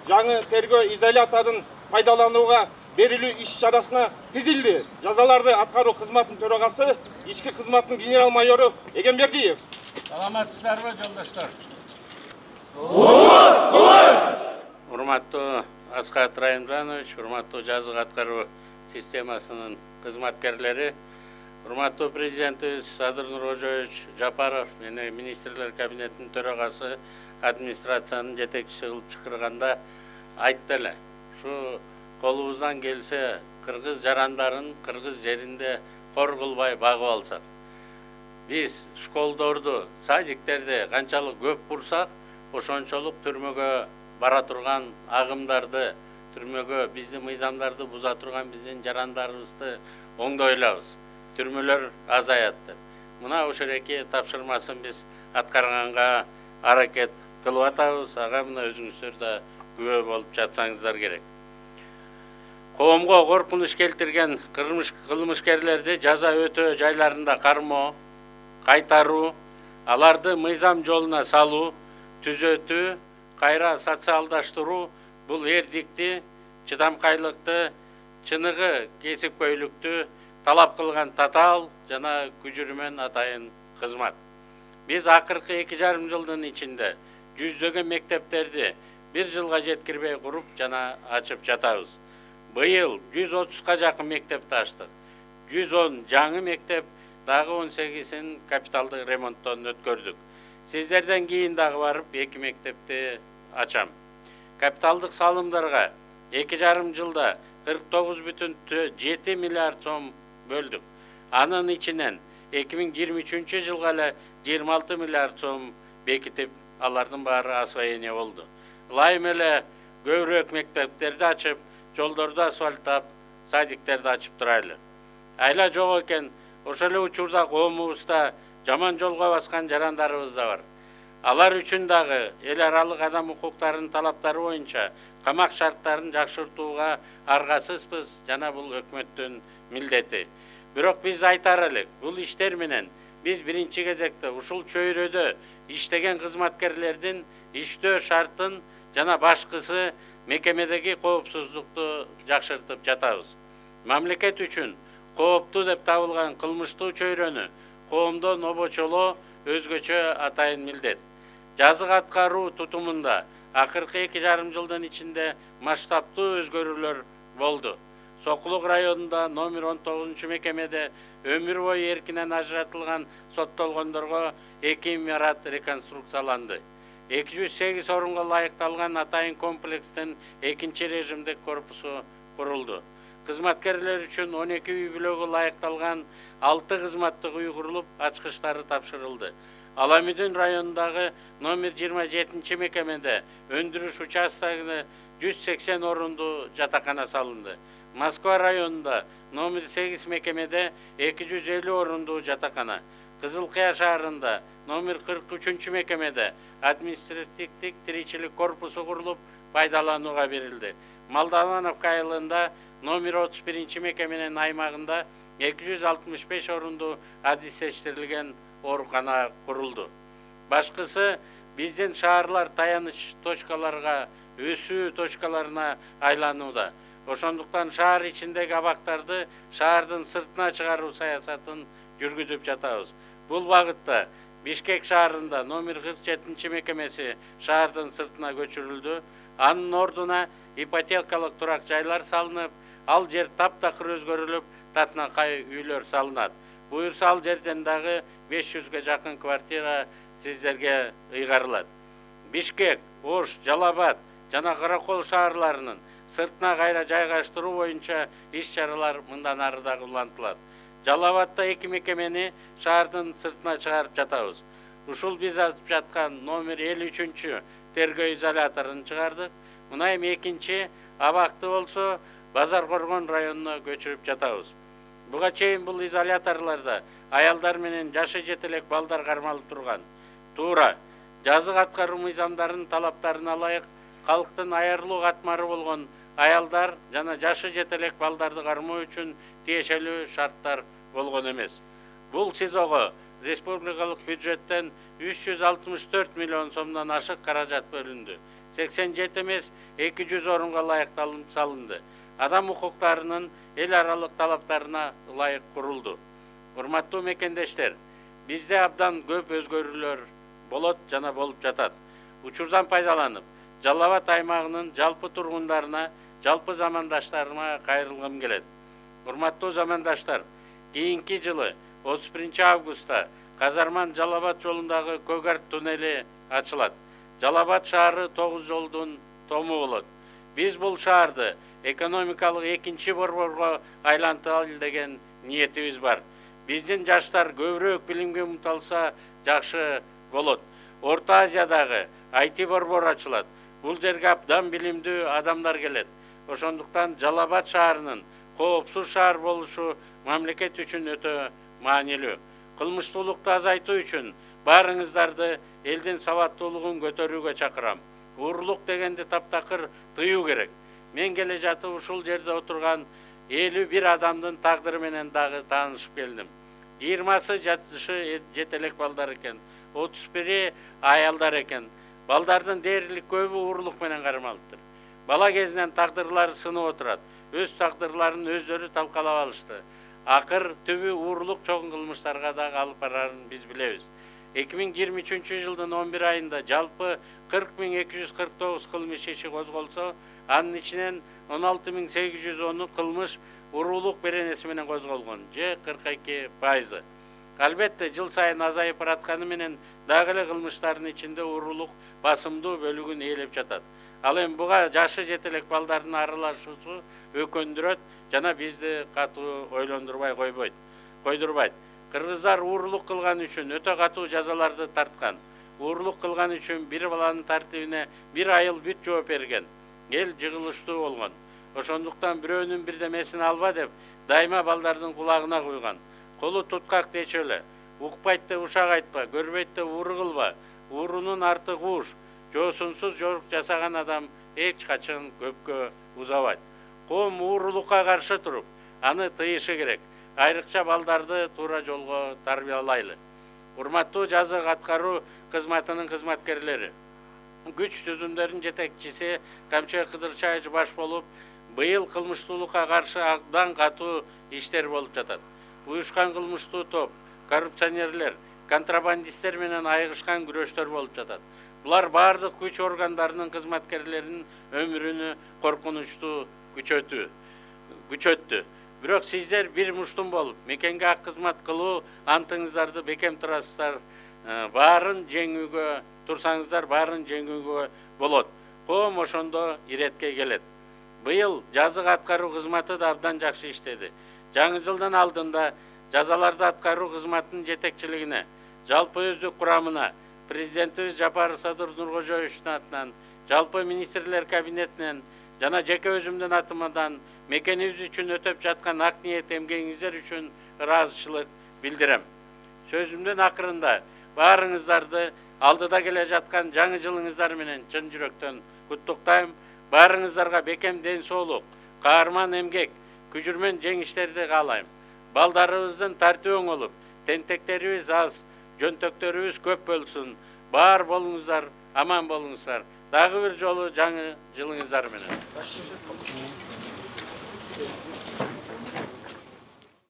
жаңы тергөө изоляторун пайдаланууга берилүү иш чарасына тизилди. Жазаларды аткаруу кызматынын төрагасы, ички кызматтын генерал майору Эгембердиев. Саламатсыздарбы, жолдоштор? Урматтуу Аскат Райымжанович, урматтуу жазык аткаруу системасынын кызматкерлери, урматтуу президентибиз Садыр Нуркожоевич Жапаров менен министрлер кабинетинин төрагасы администрациянын жетекчиси кылып чакырганда айтты эле. Ушу колубуздан келсе кыргыз жарандарын кыргыз жеринде кор кылбай багып алсак. Биз школдорду, садиктерди канчалык көп курсак, ошончолук түрмөгө бара турган агымдарды, түрмөгө биздин мыйзамдарды буза турган биздин жарандарыбызды оңдой алабыз. Түрмөлөр азаят деп. Мына ошереки тапшырмасын биз аткарганга аракет кылып атабыз. Ага мына өзүңүздөр да күбө болуп жатсаңыздар керек. Коомго коркунуч келтирген кылмышкерлерди жаза өтөө жайларында кармоо, кайтаруу, аларды мыйзам жолуна салуу, түзөтүү, кайра социалдаштыруу бул эрдикти, чыдамкайлыкты, чыныгы кесипкөйлүктү талап кылган татаал жана күжүрмөн атайын кызмат. Биз акыркы 2,5 жылдын ичинде жүздөгөн мектептерди 1 жылга жеткирбей куруп жана ачып жатабыз. Быйыл 130га жакын мектепти ачтык. 110 жаңы мектеп, дагы 18-ин капиталдык ремонттон өткөрдүк. Сиздерден кийин дагы барып 2 мектепти ачам. Капиталдык салымдарга 2,5 жылда 49,7 миллиард сом бөлдүк. Анын ичинен 2023 жылга эле 26 миллиард сом бекитип, алардын баары освоение болду. Ылайым эле көбүрөөк мектептерди ачып, жолдорду асфальттап, садиктерди ачып турайлы. Айла жок экен, ошол эле учурда коомубузда жаман жолго баскан жарандарыбыз да бар. Алар үчүн дагы эл аралык адам укуктарынын талаптары боюнча камак шарттарын жакшыртууга аргасызбыз жана бул өкмөттүн милдети. Бирок биз айтар элек, бул иштер менен биз биринчи кезекте ушул чөйрөдө иштеген кызматкерлердин иштөө шартын жана башкысы мекемедеги коопсуздукту жакшыртып жатабыз. Мамлекет үчүн кооптуу деп табылган кылмыштуу чөйрөнү коомдон обочолоо өзгөчө атайын милдет. Жазык аткаруу тутумунда акыркы 2,5 жылдын ичинде масштабтуу өзгөрүүлөр болду. Сокулук районунда номер 19 мекемеде өмүр бою эркинен ажыратылган соттолгондорго 2 имарат реконструкцияланды. 208 орунга ылайыкталган атайын комплекстин 2-чи режимдик корпусу курулду. Кызматкерлер үчүн 12 үй бүлөгө ылайыкталган 6 кызматтык үй курулуп, ачкычтары тапшырылды. Аламүдүн районундагы номер 27 мекемеде өндүрүш участогуна 180 орундуу жатакана салынды. Москва районунда номер 8 мекемеде 250 орундуу жатакана. Кызыл Кыя шаарында номер 43 мекемеде административдик тиричилик корпусу курулуп, пайдаланууга берилди. Молдовановка айылында номер 31 мекеменин аймагында 265 орундуу адистештирилген оорукана курулду. Башкысы биздин шаарлар таяныч точкаларга, өсүү точкаларына айланууда. Ошондуктан шаар ичиндеги абактарды шаардын сыртына чыгаруу саясатын жүргүзүп жатабыз. Бул багытта Бишкек шаарында номер 47 мекемеси шаардын сыртына көчүрүлдү. Анын ордуна ипотекалык турак жайлар салынып, ал жер таптакыр өзгөрүлүп, татынакай үйлөр салынат. Буюрса ал жерден дагы 500ге жакын квартира сиздерге ыйгарылат. Бишкек, Ош, Жалал-Абад жана Каракол шаарларынын сыртына кайра жайгаштыруу боюнча иш-чаралар мындан ары дагы улантылат. Жалал-Абадда 2 мекемени шаардын сыртына чыгарып жатабыз. Ушул биз ачып жаткан номер 53 тергөө изоляторун чыгардык. Мына эми 2-чи абакты болсо Базар Коргон районуна көчүрүп жатабыз. Буга чейин бул изоляторлордо аялдар менен жашы жетелек балдар кармалып турган. Туура, жазык аткаруу мыйзамдарынын талаптарына ылайык калктын аярлуу катмары болгон аялдар жана жашы жетелек балдарды кармоо үчүн тиешелүү шарттар болгон эмес. Бул СИЗОго республикалык бюджеттен 364 миллион сомдон ашык каражат бөлүндү. 87 эмес 200 орунга ылайыкталып салынды. Адам укуктарынын эл аралык талаптарына ылайык курулду. Урматтуу мекендештер, бизде абдан көп өзгөрүүлөр болот жана болуп жатат. Учурдан пайдаланып, Жалал Абад аймагынын жалпы тургундарына, жалпы замандаштарыма кайрылгым келет. Урматтуу замандаштар, кийинки жылы 31 августта Казарман Жалал Абад жолундагы Көгарт туннели ачылат. Жалал Абад шаары 9 жолдун тому болот. Биз бул шаарды экономикалык экинчи борборго айланталы деген ниетибиз бар. Биздин жаштар көбүрөөк билимге умталса жакшы болот. Орто Азиядагы IT борбор ачылат. Бул жерге абдан билимдүү адамдар келет. Ошондуктан Жалал Абад шаарынын коопсуз шаар болушу мамлекет үчүн өтө маанилүү. Кылмыштуулукту азайтуу үчүн баарыңыздарды элдин сабаттуулугун көтөрүүгө чакырам. Уурулук дегенди таптакыр тыюу керек. Мен келе жатып ушул жерде отурган 51 адамдын тагдыры менен дагы таанышып келдим. 20сы жашы жетелек балдар экен, 31 аялдар экен. Балдардын дээрлик көбү уурулук менен кармалыптыр. Бала кезинен тагдырлары сынып отурат. Өз тагдырларын өздөрү талкалап алышты. Акыр түбү уурулук чоң кылмыштарга дагы алып барарын биз билебиз. 2023 жылдын 11 айында жалпы 40.249 кылмыш иши козголсо, анын ичинен 16.810 кылмыш уурулук беренеси менен козголгон, же 42%. Албетте, жыл сайын азайып баратканы менен дагы эле кылмыштардын ичинде уурулук басымдуу бөлүгүн ээлеп жатат. Ал эми буга жашы жетелек балдардын аралашуусу өкөндүрөт жана бизди катуу ойлондурбай койдурбайт. Кыргыздар уурулук кылган үчүн өтө катуу жазаларды тарткан. Уурулук кылган үчүн бир баланын тартибине 1 айыл бүт жооп берген. Эл жыгылыштуу болгон. Ошондуктан бирөөнүн бирдемесин алба деп дайыма балдардын кулагына куйган. Колу туткак дечү эле. Укпайт деп ушак айтпа, көрбөйт деп ууру кылба. Уурунун арты кууш. Жоосунсуз жорук жасаган адам эч качан көпкө узабайт. Коом уурулукка каршы туруп, аны тыйышы керек. Айрыкча балдарды туура жолго тарбиялайлы. Урматтуу жазык аткаруу кызматынын кызматкерлери, күч түзүмдөрүнүн жетекчиси Камчы Кыдырчаевич баш болуп, быйыл кылмыштуулукка каршы абдан катуу иштер болуп жатат. Уюшкан кылмыштуу топ, коррупционерлер, контрабандисттер менен айыгышкан күрөштөр болуп жатат. Булар бардык күч органдарынын кызматкерлеринин өмүрүнү коркунучтуу күчөттү. Бирок сиздер бир муштум болуп, мекенге ак кызмат кылуу антыңыздарды бекем турасыздар. Баарын жеңүүгө турсаңыздар, баарын жеңүүгө болот. Коом ошондо иретке келет. Быйыл жазык аткаруу кызматы да абдан жакшы иштеди. Жаңы жылдын алдында жазаларды аткаруу кызматынын жетекчилигине, жалпы өздүк курамына, президентибиз Жапаров Садыр Нуркожоевичтин атынан, жалпы министрлер кабинетинен жана жеке өзүмдүн атымдан мекенибиз үчүн өтөп жаткан ак ниет эмгегиңиздер үчүн ыраазычылык билдирем. Сөзүмдүн акырында баарыңыздарды алдыда келе жаткан жаңы жылыңыздар менен чын жүрөктөн куттуктайм. Баарыңыздарга бекем ден соолук, каарман эмгек, күжүрмөн жеңиштерди каалайм. Балдарыбыздын тартиби оңолуп, тентектерибиз аз, жөнтөктөрүбүз көп болсун. Баар болуңуздар, аман болуңуздар. Дагы бир жолу жаңы жылыңыздар менен.